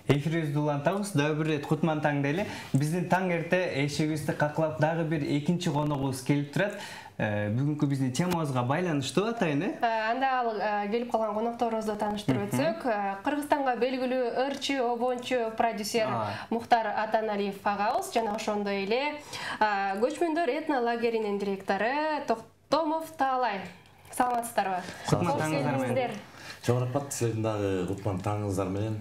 Эфирибизди улантабыз. Дагы бир рет кутман таң дейли. Биздин таң эрте эшигибизди каклап дагы бир экинчи коногубуз келип турат. Бүгүнкү биздин темабызга байланыштуу атайын, Анда ал келип калган конокторубузду тааныштырып өтсөк, Кыргызстанга белгилүү ырчы, обончу продюсер Мухтар Атаналиев агабыз жана ошондой эле көчмөндөр этно лагеринин директору Токтомов Таалай. Саламатсыздарбы? Кутман Чоң рахмат, силердин дагы кутман таңыңыздар менен.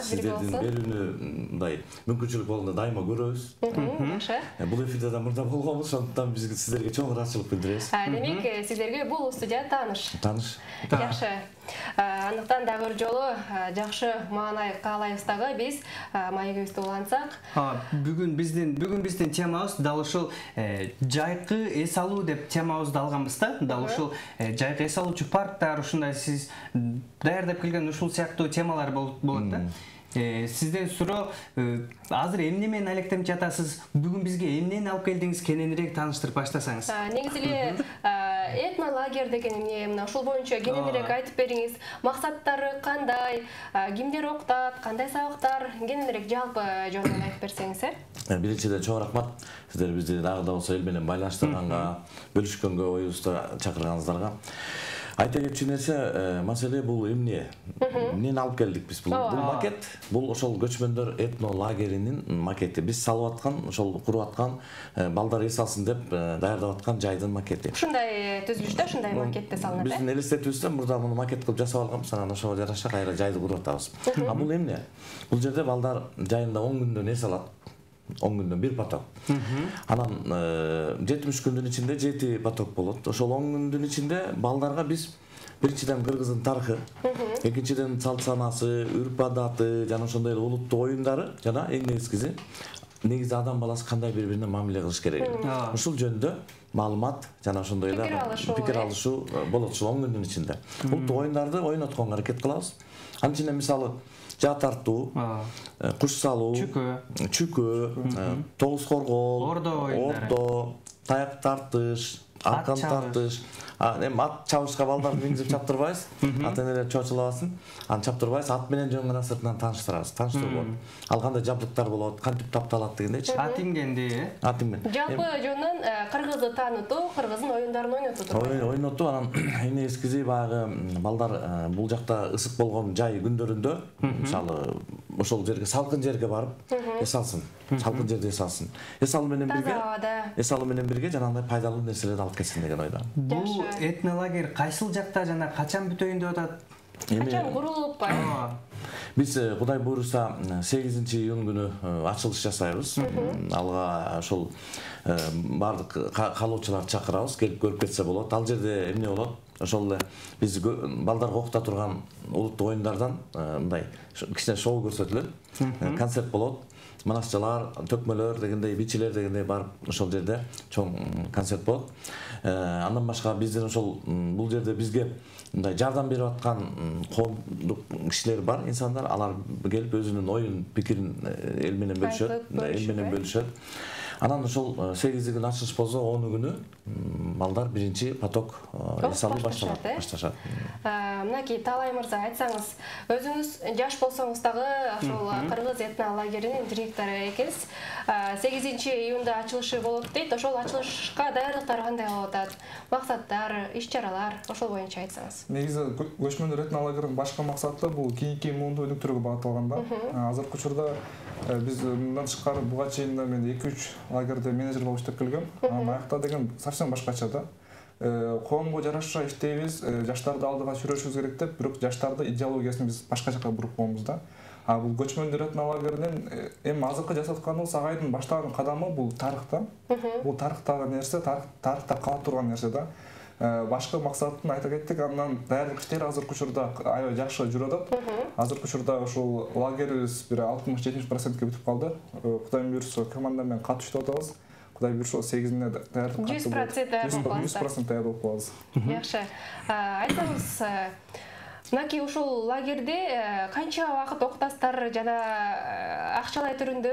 Сиздердин берүүнү мындай мүмкүнчүлүк болгондо дайыма көрөбүз. Жакшы. Бул эфирде да мурда болгонбуз, ошондуктан биз сиздерге чоң ыраазычылык билдиребиз. Демек, сиздерге бул студия тааныш. Тааныш. Жакшы. Андыктан дагы бир жолу жакшы маанай каалайбыз дагы биз маегибизди улантсак. Бүгүн биздин темабыз дал ушул жайкы эс алуу деп темабызды алганбыз да. Дал ушул жайкы эс алуучу парктар, ушундай сиз даярдап келген ушул сыяктуу темалар болот да. Сизден суроо, азыр эмне менен алектенип жатасыз? Бүгүн бизге эмнени алып келдиңиз? Кененирээк тааныштырып баштасаңыз. Негизи эле этно лагерь деген эмне? Мына ушул боюнча кененирээк айтып бериңиз. Максаттары кандай? Кимдер окутат? Кандай сабактар? Кененирээк жалпы жөнүндө айтып берсеңиз, Биринчиден чоң рахмат. Сиздер бизди дагы да болсо эл менен байланыштырганга, бөлүшкөнгө, оюбузду чакырганыңыздарга. Айта кетчү нерсе, маселе бул эмне? Эмнени алып келдик биз? Бул макет, бул ошол көчмөндөр этно лагеринин макети. Биз салып аткан, ошол куруп аткан, балдар эс алсын деп даярдап аткан жайдын макети. Ушундай түзүлүштө, ушундай макетте салынат. Биздин элестетүүбүздө мурда муну макет кылып жасап алганбыз, анан ошого жараша кайра жайды куруп атабыз. Бул эмне? Бул жерде балдар жайында 10 күндөн эс алат. 10 күндөн бир поток. Анан 70 күндүн ичинде 7 поток болот. Ошол 10 күндүн ичинде балдарга биз биринчиден кыргыздын тарыхы, экинчиден салт санасы, үрп адаты жана ошондой эле улуттук оюндары жана эң негизи адам баласы кандай бири-бирине мамиле кылыш керегин. Ушул жөнүндө маалымат жана ошондой эле пикир алышуу болот ушул 10 күндүн ичинде. Улуттук оюндарды ойнотконго аракет кылабыз. Анын ичинде мисалы жаа тартуу, куш салуу, чүкө, тогуз коргол, ордо, таяк тартыш, аркан тартыш. Эми ат чабышка балдарды мингизип чаптырбайбыз. Ата-энелер чочулабасын. Аны чаптырбайбыз, ат менен жөн гана сыртынан тааныштырабыз. Тааныштырып ал кандай жабдыктар болот, кантип тапталат дегендейчи. Ат ингенди, Ат инген. Жалпы жөнүнөн кыргызды таанытуу, кыргыздын оюндарын ойнотуу. Ойнотуу, анан эң негизгиси баягы балдар бул жакта ысык болгон жай күндөрүндө, мисалы, ошол жерге салкын жерге барып эс алсын. Салкын жерде эс алсын. Эс алуу менен бирге жанагындай пайдалуу нерселерди алып келсин деген ойдо. Бул этно лагерь кайсыл жакта жана качан бүтөйүн деп атат? Качан курулуп Биз Кудай буйруса 8-июнь күнү ачылыш жасайбыз. Алга ошол бардык каалоочуларды чакырабыз, келип көрүп кетсе болот. Ал жерде эмне болот? Ошол эле биз балдарга окута турган улуттук оюндардан мындай кичине шоу көрсөтүлөт. Концерт болот. Манасчалар, төкмөлөр дегендей, бичилер дегендей барып ошол жерде чоң концерт болот. Андан башка биздин ошол бул жерде бизге мындай жардам берип аткан коомдук кишилер бар, инсандар. Алар келип өзүнүн оюн, пикирин эл менен бөлүшөт. Анан ошол 8-күн ачылыш болсо, 10-күнү балдар биринчи поток эс алуу башташат. Мынакей Таалай мырза, айтсаңыз, өзүңүз жаш болсоңуз дагы ошол Кыргыз этно лагеринин директору экенсиз. 8-июнда ачылышы болот дейт. Ошол ачылышка даярдыктар кандай болуп атат? Максаттар, иш-чаралар, ошол боюнча айтсаңыз. Негизи көчмөндөр этно лагеринин башкы максаты бул кийинки муунду өнүктүрүүгө багытталган да. Азыркы учурда биз мындан тышкары буга чейин мен 2-3 лагерде менеджер болуп иштеп келгем. Аякта деген совсем башкача да. Коомго жараша иштейбиз, жаштарды алдыга сүрөшүбүз керек деп, бирок жаштарды идеологиясын биз башка жака буруп койбуз да. Бул көчмөндөр этно лагеринин эми азыркы жасап атканыбыз агайдын баштаган кадамы бул тарыхта. Бул тарыхтагы нерсе, тарыхта кала турган нерсе да. Башкы максатын айта кеттик, андан даярдык иштери азыркы учурда аябай жакшы жүрүп атат. Азыркы учурда ушул лагерибиз бир 60-70%ке бүтүп калды. Кудай буйрса команда менен катуу иштеп атабыз. Кудай буйрса 8-ине даярдык 100% даярдык болуп калабыз. Жакшы. Айтсаңыз, мынакей ушул лагерде канча убакыт окутасыздар жана акчалай түрүндө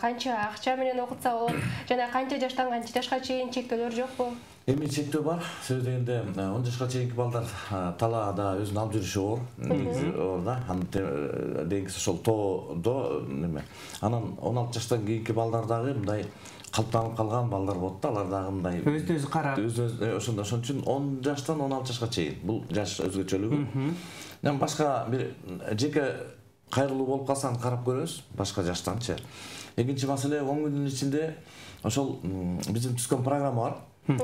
канча акча менен окутса болот жана канча жаштан канча жашка чейин чектөөлөр жокпу? Эми чектөө бар. Сөз дегенде 10 жашка чейинки балдар талаада өзүн алып жүрүшү оор. Негизи оор да. Анын деңиз ошол тоодо неме. Анан 16 жаштан кийинки балдар дагы мындай калыптанып калган балдар болот да. Алар дагы мындай өзүн карап. Ошондо ошон үчүн 10 жаштан 16 жашка чейин. Бул жаш өзгөчөлүгү. Жана башка бир жеке кайрылуу болуп калсаң карап көрөбүз башка жаштанчы. Экинчи маселе 10 күндүн ичинде ошол биздин түзгөн программа бар.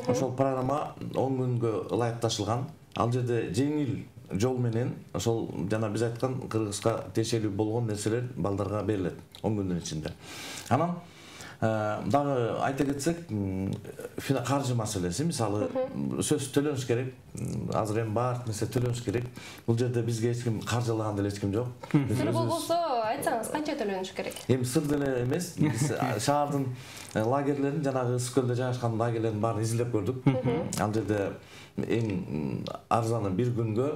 Ошол программа 10 күнгө ылайыкташылган. Ал жерде жеңил жол менен ошол жана биз айткан Кыргызга тиешелүү болгон нерселер балдарга берилет 10 күндүн ичинде. Анан дагы айта кетсек, каржы маселеси, мисалы сөз төлөнүш керек. Азыр эми бар нерсе төлөнүш керек. Бул жерде бизге эч ким каржылаган деле эч ким жок. Сыр болбосо айтсаңыз канча төлөнүш керек? Эми сыр деле эмес. Биз шаардын лагерлерин, жанагы Ысык көлдө жайгашкан лагерлердин баарын изилдеп көрдүк. Ал жерде эң арзаны бир күнгө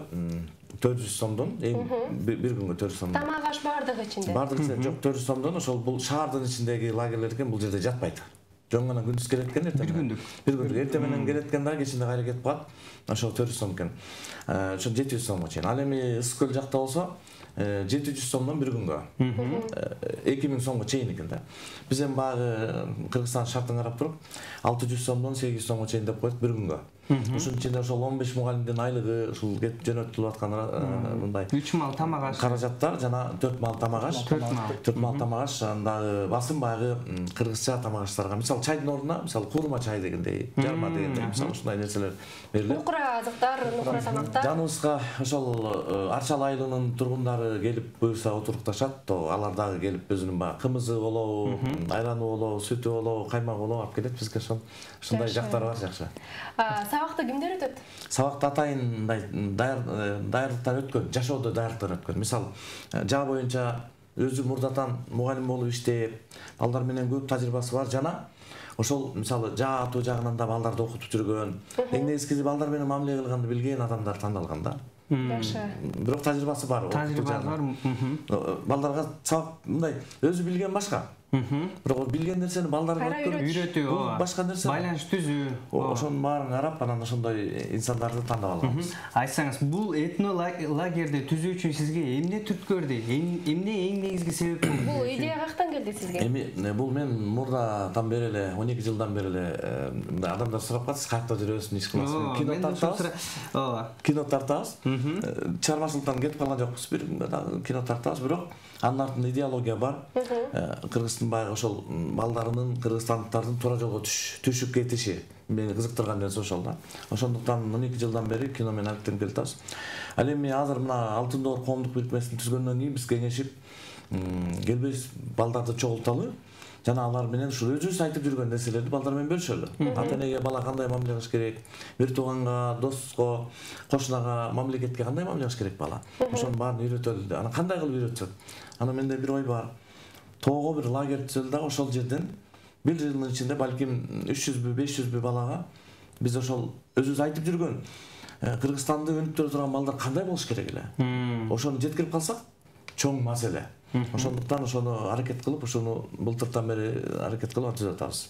400 сомдон, бир күнгө 400 сомдон. Тамак аш бардыгы ичинде. Бардыгы ичинде жок, 400 сомдон. Ошол бул шаардын ичиндеги лагерлер экен, бул жерде жатпайт. Жөн гана күндүз келет экен, эртең. Бир күндүк. Эртең менен келет экен да, кечинде кайра кетип калат. Ошол 400 сом экен. Ошо 700 сомго чейин. Ал эми Ысык көл жакта болсо 700 сомдон бир күнгө. 2000 сомго чейин экен да. Биз эми баягы Кыргызстан шартын карап туруп 600 сомдон 800 сомго чейин деп коет бир күнгө. Ошонун ичинде ошол 15 мугалимдин айлыгы, ушул кетип жөнөтүлүп аткан мындай 3 мал тамак аш каражаттар жана 4 мал тамак аш. 4 мал тамак аш, андагы басым баягы кыргызча тамак аштарга, мисалы чайдын ордуна, мисалы курма чай дегендей, жарма дегендей, мисалы ушундай нерселер берилет. Нукура азыктар, нукура тамактар. Жаныбызга ошол Арчал айылынын тургундары келип буюрса отурукташат, то алар дагы келип өзүнүн баягы кымызы болобу, айраны болобу, сүтү болобу, каймагы болобу алып келет бизге. Ошондой жактары бар, жакшы. Сабакты кимдер өтөт? Сабакты атайын мындай даярдыктан өткөн, жашоодо даярдыктан өткөн. Мисалы, жаа боюнча өзү мурдатан мугалим болуп иштеп, балдар менен көп тажрыйбасы бар жана ошол мисалы жаа атуу жагынан да балдарды окутуп жүргөн, эң негизгиси балдар менен мамиле кылганды билген адамдар тандалган да. Жакшы. Бирок тажрыйбасы бар. Тажрыйбасы бар. Балдарга сабак мындай өзү билген башка. Бирок билген нерсени балдарга үйрөтүү, башка нерсе. Байланыш түзүү. Ошонун баарын карап, анан ошондой инсандарды тандап алганбыз. Айтсаңыз, бул этно лагерди түзүү үчүн сизге эмне түрткөрдү? Эмне эң негизги себеп болду? Бул идея каяктан келди сизге? Эми бул мен мурдадан бери эле 12 жылдан бери эле адамдар сурап калат, сиз каякта жүрөсүз, иш кыласызбы? Кино тартабыз. Кино тартабыз. Чарбашылыктан кетип калган жокпуз, бир кино тартабыз, бирок анын артында идеология бар. Кыргыздын баягы ошол балдарынын, кыргызстандыктардын туура жолго түшүп кетиши мени кызыктырган нерсе ошол да. Ошондуктан 12 жылдан бери кино менен алектенип келатабыз. Ал эми азыр мына Алтын Доор коомдук бирикмесин түзгөндөн кийин биз кеңешип келбейбиз балдарды чогулталы жана алар менен ушул өзүбүз айтып жүргөн нерселерди балдар менен бөлүшөлү. Ата-энеге бала кандай мамиле кылыш керек, бир тууганга, доско, кошунага, мамлекетке кандай мамиле кылыш керек бала. Ошонун баарын үйрөтөлү. Анан кандай кылып үйрөтсөк? Анан менде бир ой бар. Тоого бир лагерь түзөлү дагы ошол жерден бир жылдын ичинде балким 300бү, 500бү балага биз ошол өзүбүз айтып жүргөн Кыргызстанды өнүктүрө турган балдар кандай болуш керек эле? Ошону жеткирип калсак, чоң маселе. Ошондуктан ошону аракет кылып, ошону былтыртан бери аракет кылып түзүп атабыз.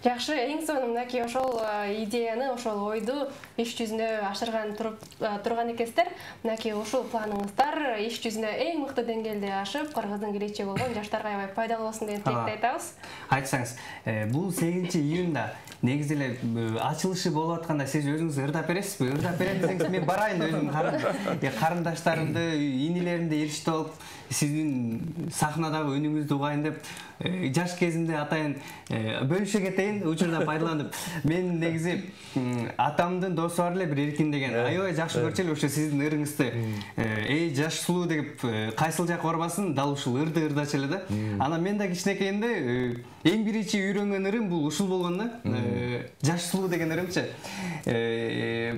Жакшы, эң сонун мынакей ошол идеяны, ошол ойду иш жүзүнө ашырган турган экенсиздер. Мынакей ушул планыңыздар иш жүзүнө эң мыкты деңгээлде ашып, Кыргыздын келечеги болгон жаштарга аябай пайдалуу болсун деген тилекти айтабыз. Айтсаңыз, бул 8-июнда негизи эле ачылышы болуп атканда сиз өзүңүз ырдап бересизби? Ырдап берем десеңиз мен барайын өзүм карындаштарымды, инилеримди эрişte алып, сиздин сахнадагы үнүңүздү угайын деп жаш кезимде атайын бөлүшө кетейин, учурда пайдаланып. Мен негизи атамдын досу бар эле, бир Эркин деген. Аябай жакшы көрчү эле ошо сиздин ырыңызды. Эй, жаш сулуу деп кайсыл жак барбасын, дал ушул ырды ырдачу эле да. Анан мен да кичинекейимде эң биринчи үйрөнгөн ырым бул ушул болгон да. Жаш сулуу деген ырымчы.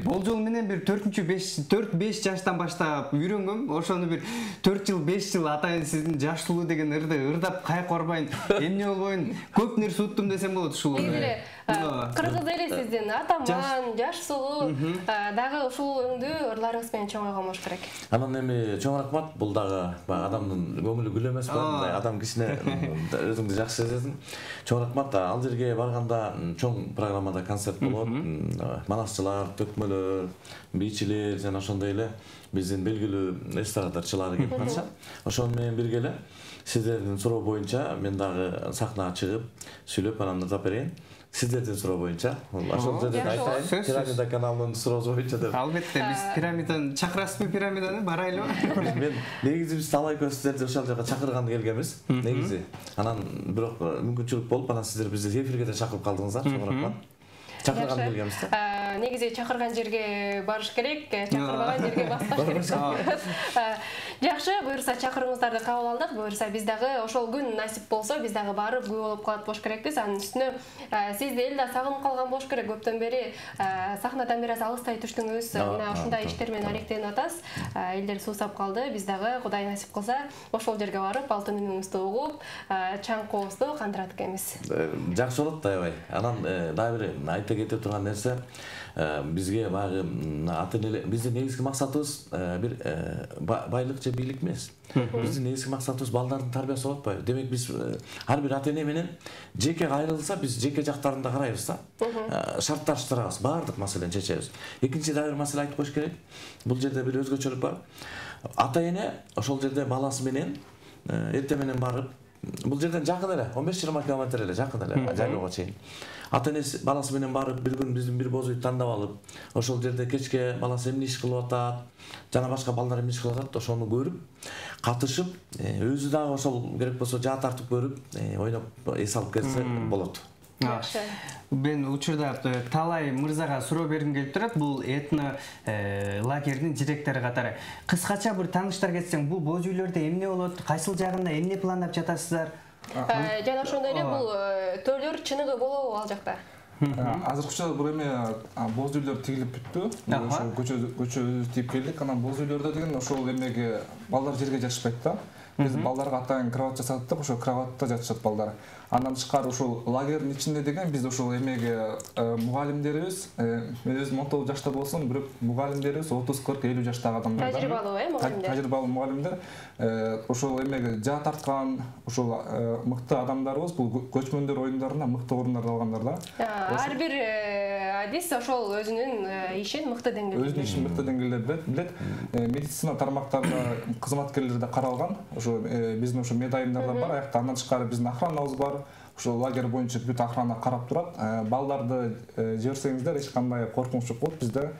Болжол менен бир 4-5 жаштан баштап үйрөнгөм. Ошону бир 4 жыл, 5 жыл атайын сиздин жаш сулуу деген ырды ырдап каяк барбайын, эмне болбойн, көп нерсе уттум десем болот ушул. эле кыргыз элесиздин атаман, жаш сулуу дагы ушул өңдүү ырларыңыз менен чоңойгон болуш керек. Анан эми чоң рахмат, бул дагы адамдын көңүлү гүл эмес мындай адам кишине өзүңдү жакшы сезесиң. Чоң рахмат. Ал жерге барганда чоң программада концерт болот. Манасчылар, төкмөлөр, бийчилер жана ошондой эле биздин белгилүү эстрадарчылар келип калышат. Ошону менен бирге эле сиздердин суроо боюнча мен дагы сахнага чыгып сүйлөп анан ырдап берейин. Сиздердин суроо боюнча. Ошол жерде айтайын. Пирамида каналынын суроосу боюнча деп. Албетте биз пирамиданы чакырасызбы, пирамиданы барайлыбы? Мен негизи биз талай көп сиздерди ошол жака чакырган келгенбиз. Негизи. Анан бирок мүмкүнчүлүк болуп, анан сиздер бизди эфирге да чакырып калдыңыздар. Чоң рахмат. Чакырган келгенбиз да. Негизи чакырган жерге барыш керек, чакырбаган жерге баспаш керек. Жакшы, буюрса чакырууңуздарды кабыл алдык. Буюрса биз дагы ошол күн насип болсо, биз дагы барып күбө болуп калат болуш керекпиз. Анын үстүнө сизди эл да сагынып калган болуш керек. Көптөн бери сахнадан бир аз алыстай түштүңүз. Мына ушундай иштер менен аректенип атасыз. Элдер суусап калды. Биз дагы Кудай насип кылса, ошол жерге барып, алтын үнүңүздү угуп, чаңкообузду кандырат экенбиз. Жакшы болот аябай. Анан дагы бир айта кете турган нерсе, бизге баягы биздин негизги максатыбыз бир байлык же бийлик эмес. Биздин негизги максатыбыз балдардын тарбиясы болуп атпайбы? Демек биз ар бир ата эне менен жеке кайрылса, биз жеке жактарын да карайбыз да. Шартташтырабыз, баардык маселени чечебиз. Экинчи дагы бир маселе айтып коюш керек. Бул жерде бир өзгөчөлүк бар. Ата эне ошол жерде баласы менен эртең менен барып, бул жерден жакын эле, 15-20 километр эле, жакын эле, жайлоого чейин. Ата энеси баласы менен барып, бир күн биздин бир бозуйду тандап алып, ошол жерде кечке баласы эмне иш кылып атат, жана башка балдар эмне иш кылып атат, ошону көрүп, катышып, өзү дагы ошол керек болсо жаа тартып көрүп, ойноп эс алып келсе болот. Жакшы. Мен учурда талай мырзага суроо бергим келип турат. Бул этно лагердин директору катары. Кыскача бир тааныштар кетсең, бул боз үйлөрдө эмне болот? Кайсыл жагында эмне пландап жатасыздар? Жана ошондой эле бул төлөр чыныгы болобу ал жакта? Азыркы учурда бул эме боз үйлөр тигилип бүттү. Ошол көчө өзүбүз тийип келдик. Анан боз үйлөрдө деген ошол эмеге балдар жерге жатышпайт да. Биз балдарга атайын кровать жасаттык, ошол кроватта жатышат балдар. Андан тышкары ушул лагердин ичинде деген биз ушул эмеге мугалимдерибиз, мен өзүм 19 жашта болсом, бирок мугалимдерибиз 30-40-50 жаштагы адамдар. Тажрыйбалуу мугалимдер. Тажрыйбалуу мугалимдер. Ошол эмеге жаа тарткан, ушул мыкты адамдарыбыз, бул көчмөндөр оюндарына мыкты орундар алгандар да. Ар бир адис ошол өзүнүн ишин мыкты деңгээлде. Өзүнүн ишин мыкты деңгээлде билет. Медицина тармактарында кызматкерлер да каралган. Ошо биздин ошо медайымдар да бар. Аякта андан тышкары биздин охранабыз бар. Ошол лагерь боюнча бүт охрана карап турат. Балдарды жиберсеңиздер эч кандай коркунуч жок болот. Бизде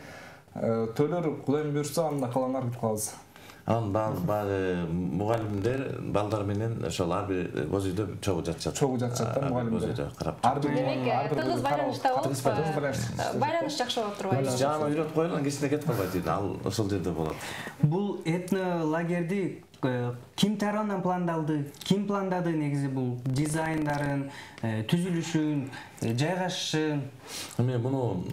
төлөр Кудайым буйрса анда калаңар күтүп калабыз. Анан баягы мугалимдер балдар менен ошол ар бир боз үйдө чогуу жатышат. Чогуу жатышат да мугалимдер. Ар бир тыгыз байланышта болуп, байланыш жакшы болуп турбайбы? Жаана үйрөтүп койгон кичине кетип калбайт дейт. Ал ошол жерде болот. Бул этно лагерди ким тарабынан пландалды? Ким пландады негизи бул дизайндарын, түзүлүшүн, жайгашышын? Мен муну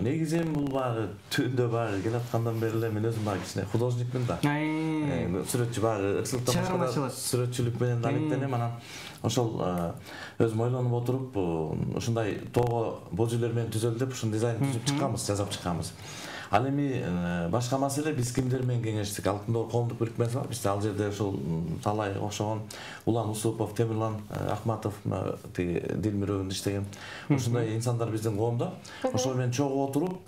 негизи бул баягы түндө баягы келаткандан бери эле мен өзүм баягы кичине художникмин да. Сүрөтчү баягы ыксылыктан башка сүрөтчүлүк менен да алектенем. Анан ошол өзүм ойлонуп отуруп ушундай тоого боз үйлөр менен түзөлдү деп ушул дизайн түзүп чыкканбыз, жасап чыкканбыз. Ал эми башка маселе биз кимдер менен кеңештик? Алтын Доор коомдук бирикмеси бар. Бизде ал жерде ушул талай окшогон Улан Усупов, Темирлан Ахматов, тиги Дилмирөбүндө иштеген ушундай инсандар биздин коомдо. Ошол менен чогуу отуруп,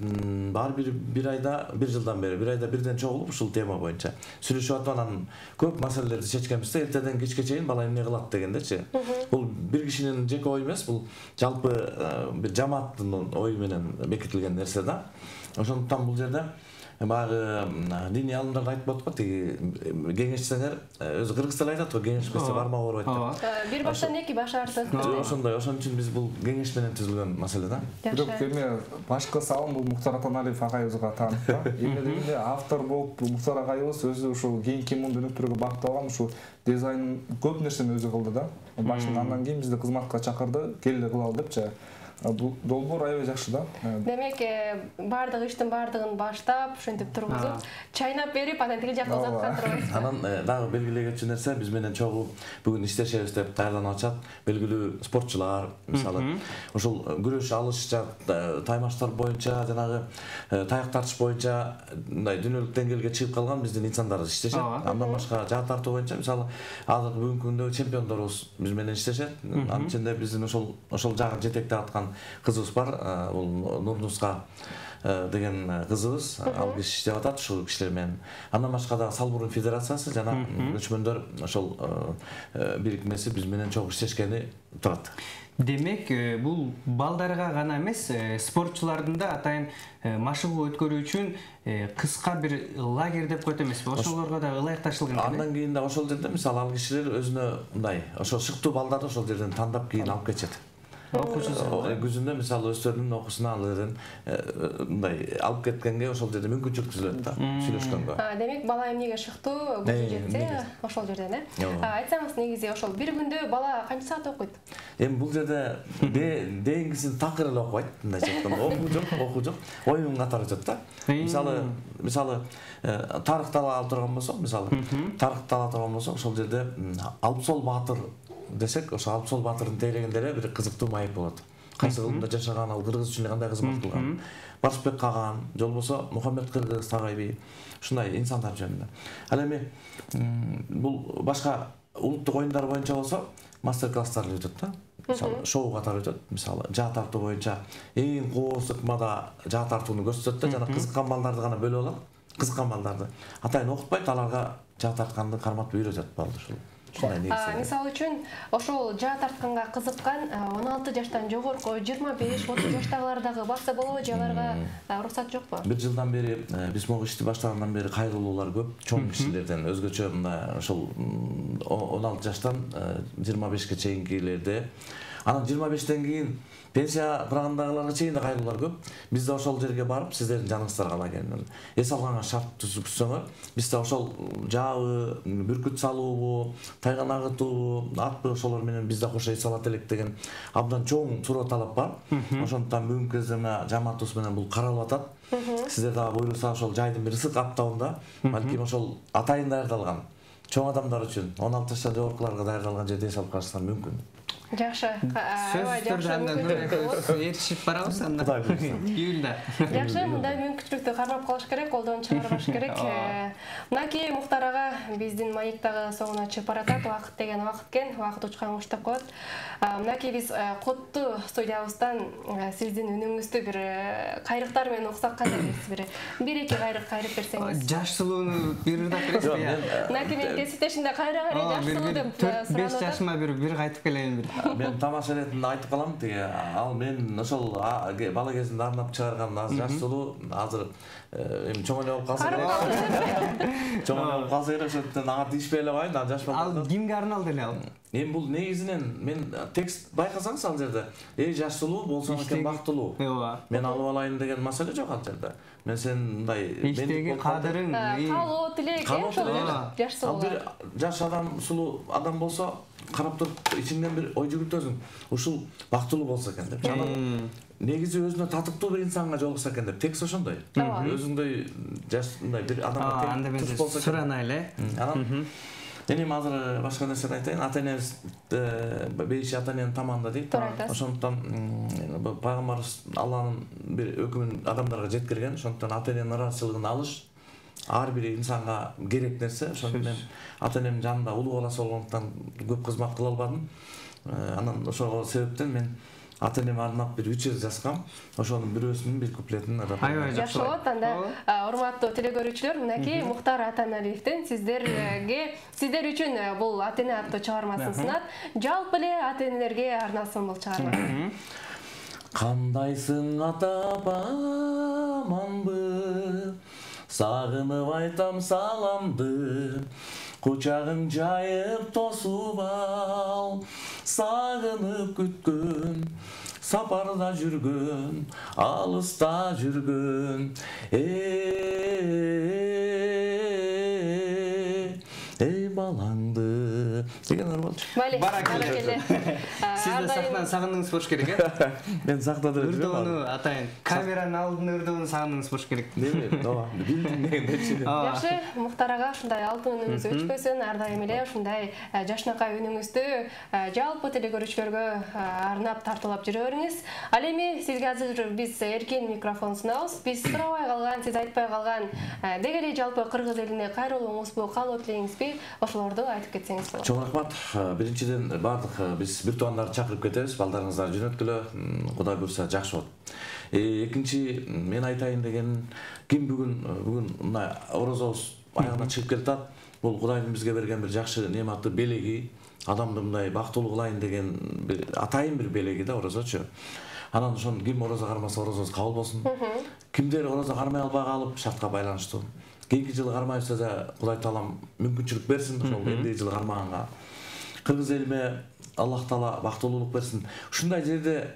ар бир айда, бир жылдан бери, бир айда бирден чогулуп ушул тема боюнча сүйлөшүп атып анан көп маселелерди чечкенбиз да. Эртеден кечке чейин бала эмне кылат дегендечи. Бул бир кишинин жеке ою эмес, бул жалпы бир жамааттын ою менен бекитилген нерсе да. Ошондуктан бул жерде баягы диний алымдар айтып атат го, тиги кеңешсеңер, өзү кыргыз тили айтат го, кеңешпесе бармак ооруйт деп. Бир баштан эки баш артык. Ошондой, ошон үчүн биз бул кеңеш менен түзүлгөн маселе да. Бирок эми башкы салым бул Муктар Атаналиев агайыбызга таандык да. Эмне дегенде автор болуп Муктар агайыбыз өзү ушул кийинки муну өнүктүрүүгө багытталган ушул дизайн көп нерсени өзү кылды да. Башында андан кийин бизди кызматка чакырды, келе кылалы депчи. долбоор аябай жакшы да. Демек, бардык иштин бардыгын баштап, ошентип тургузуп, чайнап берип, анан тиги жакка узаткан турбайсызбы? Анан дагы белгилей кетчү нерсе, биз менен чогуу бүгүн иштешебиз деп даярданып атышат белгилүү спортчулар, мисалы, ошол күрөш, алыш, таймаштар боюнча, жанагы таяк тартыш боюнча мындай дүйнөлүк деңгээлге чыгып калган биздин инсандар иштешет. Андан башка жаа тартуу боюнча, мисалы, азыркы бүгүнкү күндө чемпиондорубуз биз менен иштешет. Анын ичинде биздин ошол жагы жетектеп аткан кызыбыз бар, бул Нурнуска деген кызыбыз, ал киши иштеп атат ушул кишилер менен. Андан башка да Салбурун федерациясы жана көчмөндөр ошол бирикмеси биз менен чогуу иштешкени турат. Демек, бул балдарга гана эмес, спортчулардын да атайын машыгуу өткөрүү үчүн кыска бир лагерь деп коет эмеспи? Ошолорго да ылайыкташылган. Андан кийин да ошол жерде мисалы ал кишилер өзүнө мындай ошол шыктуу балдарды ошол жерден тандап кийин алып кетишет. Күзүндө мисалы өздөрүнүн окуусуна ал жерден мындай алып кеткенге ошол жерде мүмкүнчүлүк түзүлөт да, сүйлөшкөнгө. Демек, бала эмнеге шыктуу көзү жетсе, ошол жерден, айтсаңыз, негизи ошол бир күндө бала канча саат окуйт? Эми бул жерде дейингисин такыр эле окубайт, мындайча айтканда, окуу жок, оюн катары өтөт да. Мисалы тарыхты ала турган болсок, ошол жерде Алпсол Баатыр десек, ошо Алпсол Баатырдын тейлегенде бир кызыктуу маек болот. Кайсы кылымда жашаган, ал кыргыз үчүн кандай кызмат кылган. Барышбек Каган, же болбосо Мухаммед Кыргыз Тагайби, ушундай инсандар жөнүндө. Ал эми бул башка улуттук оюндар боюнча болсо, мастер-класстар өтөт да. Мисалы, шоу катары өтөт. Мисалы, жаа тартуу боюнча эң кооз ыкмада жаа тартууну көрсөтөт да, жана кызыккан балдарды гана бөлүп алат. Кызыккан балдарды. Атайын окутпайт, аларга жаа тартканды карматып үйрөтөт балды ушул. Мисалы үчүн, ошол жаа тартканга кызыккан 16 жаштан жогорку 25-30 жаштагылар дагы барса болобу, же аларга уруксат жокпу? Бир жылдан бери, биз могу ишти баштагандан бери кайрылуулар көп, чоң кишилерден, өзгөчө мындай ошол 16 жаштан 25-ке чейинкилерде. Анан 25-тен кийин пенсия кургандагыларга чейин да кайрылуулар көп. Биз да ошол жерге барып, сиздердин жаныңыздарга лагеринен эс алганга шарт түзүксөңөр, биз да ошол жаабы, бүркүт салуубу, тайган агытуубу, атпы ошолор менен биз да кошо эс алат элек деген абдан чоң суроо талап бар. Ошондуктан бүгүнкү кезде мына жамаатыбыз менен бул каралып атат. Сиздер дагы буйруса ошол жайдын бир ысык аптабында, балким ошол атайын даярдалган чоң адамдар үчүн 16 жаштан жогоркуларга даярдалган жерде эс алып калышсаңар мүмкүн. Жакшы. Аябай жакшы. Эришип барабыз анда. Июлда. Жакшы, мындай мүмкүнчүлүктү кармап калыш керек, колдон чыгарбаш керек. Мынакей Мухтар ага биздин маектагы соңуна чыгып баратат. Убакыт деген убакыт экен, убакыт учкан уштап коет. Мынакей биз Котту студиябыздан сиздин үнүңүздү бир кайрыктар менен уксак кантип бир-эки кайрык берсеңиз. Жаш сулууну бир ырдап бересизби? Мынакей мен кесиптешимде кайра жаш сулуу деп 4-5 жашыма бир кайтып келейин бир. Мен тамаша иретинде айтып калам, тиги ал мен ошол бала кезинде арнап чыгарган жаш сулуу азыр эми чоң эле болуп калса керек. Чоң эле болуп калса керек, ошондон ага тийишпей эле коеюн, ал жаш балдар. Ал кимге арналды эле ал? Эми бул негизинен мен текст байкасаңыз ал жерде жаш сулуу болсоң экен бактылуу. Мен алып алайын деген маселе жок ал жерде. Мен сен мындай иштеги кадырың, каалоо тилек жаш сулуу. Жаш адам сулуу адам болсо карап туруп ичиңден бир ой жүгүртөсүң. Ушул бактылуу болсо экен деп. Негизи өзүнө татыктуу бир инсанга жолукса экен деп. Текст ошондой. Өзүңдөй жаш мындай бир адамга тең болсо сурана эле. Анан Эми азыр башка нерсени айтайын. Ата-энебиз бейиши ата-эненин тамагында дейт. Ошондуктан пайгамбарыбыз Алланын бир өкүмүн адамдарга жеткирген. Ошондуктан ата-эненин ыраазычылыгын алыш ар бир инсанга керек нерсе. Ошондуктан мен ата-энемдин жанында улуу баласы болгондуктан көп кызмат кыла албадым. Анан ошол себептен мен ата-энеме арнап бир үчөр жазгам. Ошонун бирөөсүнүн бир куплетин ырдап. Аябай жакшы болот. Анда урматтуу телекөрүүчүлөр, мынакей Мухтар Атаналиевдин сиздер үчүн бул ата-эне аттуу чыгармасын сунат. Жалпы эле ата-энелерге арналсын бул чыгарма. Кандайсың ата аманбы? Сагынып айтам саламды. Кучагың жайып тосуп ал, сагынып күткөн, сапарда жүргөн, алыста жүргөн. Эй балаңды деген болчу. Баракелде. да сахнаны сагындыңыз болуш керек, э? Мен сактады деп жүрөм. Өрдөөнү атайын. Камеранын алдын өрдөөнү сагындыңыз болуш керек. Неме? Ооба, билдим дегендечи. Жакшы, Муктар ага ушундай алтын үнүңүз өчпөсүн, ар дайым эле ушундай жашнакай үнүңүздү жалпы телекөрүүчүлөргө арнап тартуулап жүрө бериңиз. Ал эми сизге азыр биз эркин микрофон сунабыз. Биз сурабай калган, сиз айтпай калган деги эле жалпы кыргыз элине кайрылууңузбу, каалоо тилейиңизби, ошолорду айтып кетсеңиз болот. Чоң рахмат. Биринчиден бардык биз бир туугандарды чакырып кетебиз. Балдарыңыздар жөнөткүлө, Кудай буйрса жакшы болот. Экинчи мен айтайын деген ким бүгүн мына орозобуз аягына чыгып келатат. Бул Кудайдын бизге берген бир жакшы неаматы, белеги, адамды мындай бактылуу кылайын деген бир атайын бир белеги да орозочу. Анан ошон ким орозо кармаса орозосу кабыл болсун. Кимдер орозо кармай албай калып шартка байланыштуу. Кийинки жылы кармайбызса да Кудай Таалам мүмкүнчүлүк берсин ошол эндиги жылы кармаганга. Кыргыз элиме Аллах Таала бактылуулук берсин. Ушундай жерде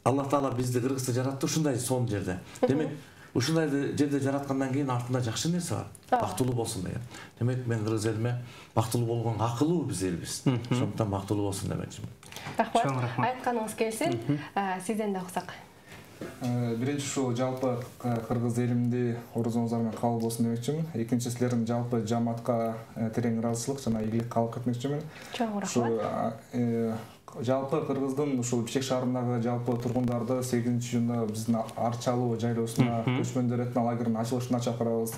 Аллах Таала бизди Кыргызды жаратты, ушундай сонун жерде. Демек, ушундай жерде жараткандан кийин артында жакшы нерсе бар. Бактылуу болсун деген. Демек, мен Кыргыз элиме бактылуу болгонго акылуу биз элбиз. Ошондуктан бактылуу болсун демекчимин. Рахмат. Айтканыңыз келсин. Сизден да уксак. Биринчи ушул жалпы кыргыз элимди орозоңуздар менен кабыл болсун демекчимин. Экинчи силердин жалпы жамаатка терең ыраазычылык жана ийгилик каалап кетмекчимин. Чоң рахмат. Жалпы Кыргыздын ушул Бишкек шаарындагы жалпы тургундарды 8-июнда биздин Арчалуу жайлоосуна көчмөндөр этно лагеринин ачылышына чакырабыз.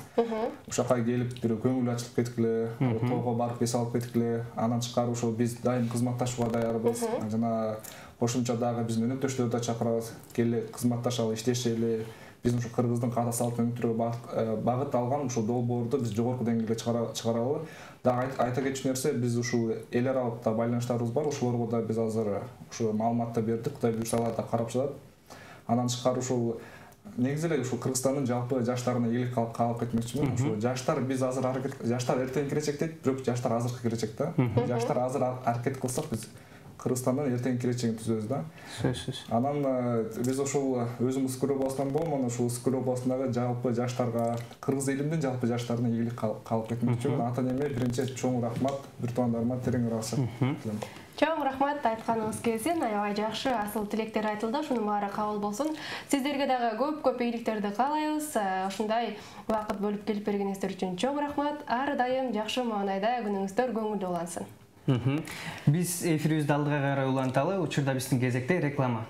Ушака келип бир көңүл ачылып кеткиле, тоого барып эс алып кеткиле. Анан тышкары ушул биз дайым кызматташууга даярбыз. Жана кошумча дагы биздин өнөктөштөрдү да чакырабыз. Келе кызматташалы, иштешели. Биздин ушу Кыргыздын каада салт өнүктүрүүгө багыт алган ушул долбоорду биз жогорку деңгээлге чыгаралы. Дагы айта кетчү нерсе, биз ушул эл аралык да байланыштарыбыз бар. Ошолорго да биз азыр ушу маалыматты бердик. Кудай буйрса алар да карап жатат. Анан тышкары ушул негизи эле ушул Кыргызстандын жалпы жаштарына ийгилик каалап кетмекчимин. Ушул жаштар биз азыр жаштар эртең келечек дейт, бирок жаштар азыркы келечек да. Жаштар азыр аракет кылсак биз Кыргызстандын эртең келечегин түзөбүз да. Сөзсүз. Анан биз ошол өзүмүз Скулобасынан болмон ушул Скулобасындагы жалпы жаштарга, Кыргыз элимдин жалпы жаштарына ийгилик каалап кетмекчимин. Ата эне биринчи чоң рахмат, бир туугандарыма терең ыраазычылык. Чоң рахмат, айтканыңыз келсин. Аябай жакшы асыл тилектер айтылды. Ушунун баары кабыл болсун. Сиздерге дагы көп ийгиликтерди каалайбыз. Ушундай убакыт бөлүп келип бергениңиздер үчүн чоң рахмат. Ар дайым жакшы маанайда күнүңүздөр көңүлдүү улансын. Биз эфирибизди алдыга карай уланталы. Учурда биздин кезекте реклама.